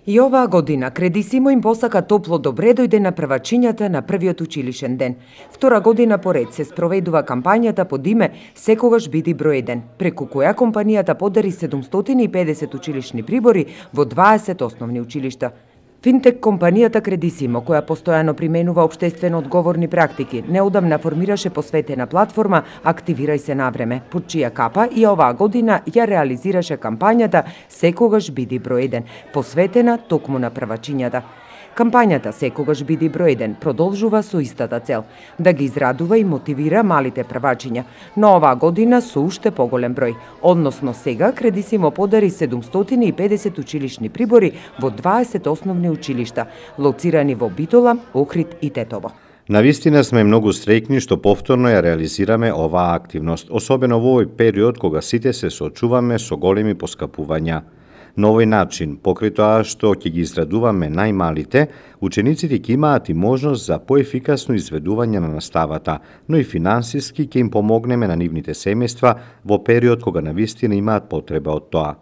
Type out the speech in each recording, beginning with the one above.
И оваа година Кредисимо им посака топло добре дојде на првачињата на првиот училишен ден. Втора година поред се спроведува кампањата под име Секогаш биди број 1, преку која компанијата подари 750 училишни прибори во 20 основни училишта. Финтек компанијата Кредисимо, која постојано применува општествено одговорни практики, неодамна формираше посветена платформа Активирај се навреме, под чија капа и оваа година ја реализираше кампањата Секогаш биди број 1, посветена токму на првачињата. Кампањата Секогаш биди број 1 продолжува со истата цел – да ги израдува и мотивира малите првачиња, но оваа година со уште поголем број, односно сега Кредисимо подари 750 училишни прибори во 20 основни училишта, лоцирани во Битола, Охрид и Тетово. Навистина сме многу среќни што повторно ја реализираме оваа активност, особено во овој период кога сите се соочуваме со големи поскапувања. На овој начин, покрај тоа што ќе ги израдуваме најмалите, учениците ќе имаат и можност за поефикасно изведување на наставата, но и финансиски ќе им помогнеме на нивните семејства во период кога навистина имаат потреба од тоа.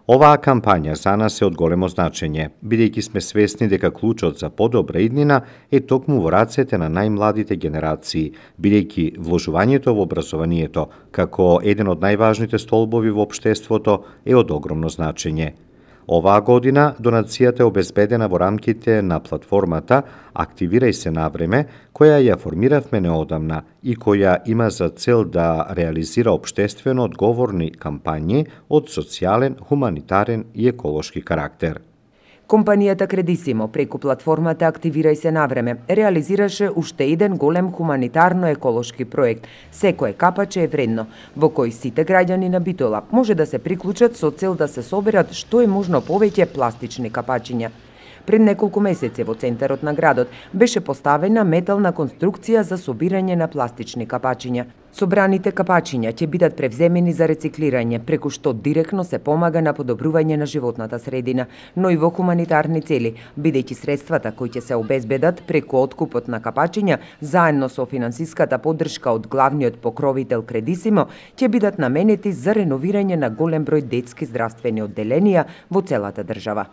Оваа кампања за нас е од големо значење, бидејќи сме свесни дека клучот за подобра иднина е токму во рацете на најмладите генерации, бидејќи вложувањето во образованието, како еден од најважните столбови во општеството, е од огромно значење. Оваа година донацијата е обезбедена во рамките на платформата Активирај се навреме, која ја формиравме неодамна и која има за цел да реализира општествено одговорни кампањи од социјален, хуманитарен и еколошки карактер. Компанијата Кредисимо преку платформата Активирај се навреме реализираше уште еден голем хуманитарно-еколошки проект Секое капаче е вредно, во кој сите граѓани на Битола може да се приклучат со цел да се соберат што е можно повеќе пластични капачиња. Пред неколку месеци во центарот на градот беше поставена метална конструкција за собирање на пластични капачиња. Собраните капачиња ќе бидат превземени за рециклирање, преку што директно се помага на подобрување на животната средина, но и во хуманитарни цели, бидејќи средствата кои ќе се обезбедат преку откупот на капачиња, заедно со финансиската поддршка од главниот покровител Кредисимо, ќе бидат наменети за реновирање на голем број детски здравствени одделенија во целата држава.